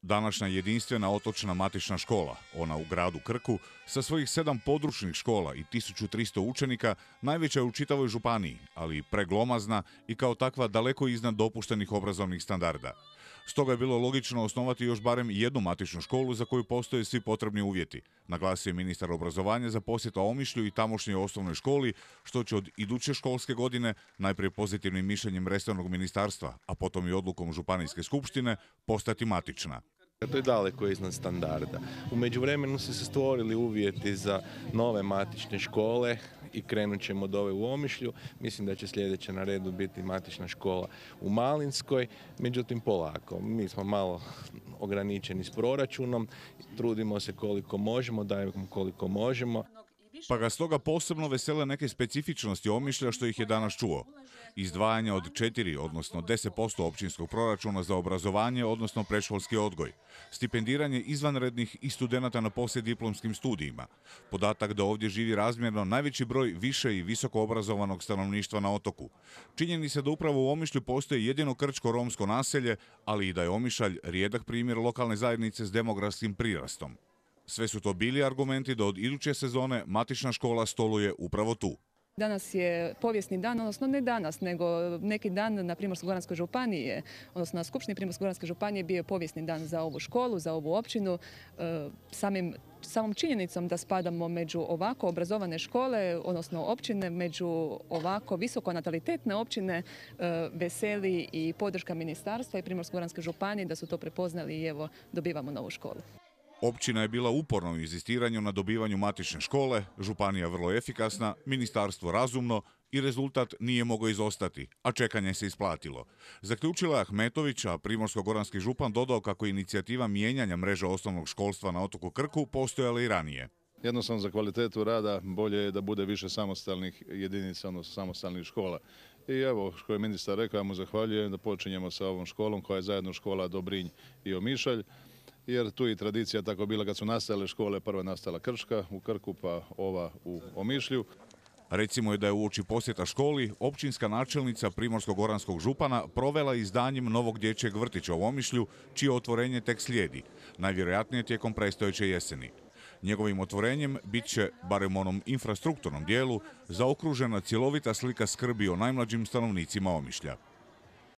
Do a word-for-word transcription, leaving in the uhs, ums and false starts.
Današnja jedinstvena otočna matična škola, ona u gradu Krku, sa svojih sedam područnih škola i tisuću tristo učenika, najveća je u čitavoj županiji, ali i preglomazna i kao takva daleko iznad dopuštenih obrazovnih standarda. Stoga je bilo logično osnovati još barem jednu matičnu školu za koju postoje svi potrebni uvjeti, naglasio je ministar obrazovanja za posjetu Omišlju i tamošnjoj osnovnoj školi, što će od iduće školske godine, najprije pozitivnim mišljenjem resornog ministarstva, a potom i odlukom Županijske skupštine, postati matična. To je daleko iznad standarda. U međuvremenu su se stvorili uvjeti za nove matične škole i krenut ćemo od ove u Omišlju. Mislim da će sljedeća na redu biti matična škola u Malinskoj, međutim polako. Mi smo malo ograničeni s proračunom, trudimo se koliko možemo, dajemo koliko možemo. Pa ga stoga posebno vesele neke specifičnosti Omišlja što ih je danas čuo. Izdvajanje od četiri, odnosno deset posto općinskog proračuna za obrazovanje, odnosno predškolski odgoj. Stipendiranje izvanrednih i studenata na poslijediplomskim studijima. Podatak da ovdje živi razmjerno najveći broj više i visoko obrazovanog stanovništva na otoku. Činjeni se da upravo u Omišlju postoji jedino krčko-romsko naselje, ali i da je Omišalj rijedak primjer lokalne zajednice s demografskim prirastom. Sve su to bili argumenti da od iduće sezone matična škola stoluje upravo tu. Danas je povijesni dan, odnosno ne danas, nego neki dan na Primorsko-goranskoj županiji, odnosno na Skupštini Primorsko-goranske županije bio je povijesni dan za ovu školu, za ovu općinu. Samim, samom činjenicom da spadamo među ovako obrazovane škole, odnosno općine, među ovako visoko natalitetne općine, veseli i podrška ministarstva i Primorsko-goranske županije da su to prepoznali i evo dobivamo novu školu. Općina je bila uporna u inzistiranju na dobivanju matične škole, županija vrlo efikasna, ministarstvo razumno i rezultat nije mogao izostati, a čekanje se isplatilo. Zaključila je Ahmetović, a primorsko-goranski župan dodao kako je inicijativa mijenjanja mreže osnovnog školstva na otoku Krku postojala i ranije. Jednostavno za kvalitetu rada bolje je da bude više samostalnih jedinica, odnosno samostalnih škola. I evo, što je ministar rekao, ja mu zahvaljujem da počinjemo sa ovom školom koja je zajedno škola Dobrinj i Omišalj. Jer tu je i tradicija tako bila kad su nastale škole, prva je nastala Krška u Krku, pa ova u Omišlju. Recimo je da je uoči posjeta školi općinska načelnica primorsko-goranskog župana provela izdanjem novog dječjeg vrtića u Omišlju, čije otvorenje tek slijedi, najvjerojatnije tijekom predstojeće jeseni. Njegovim otvorenjem bit će, barem onom infrastrukturnom dijelu, zaokružena cjelovita slika skrbi o najmlađim stanovnicima Omišlja.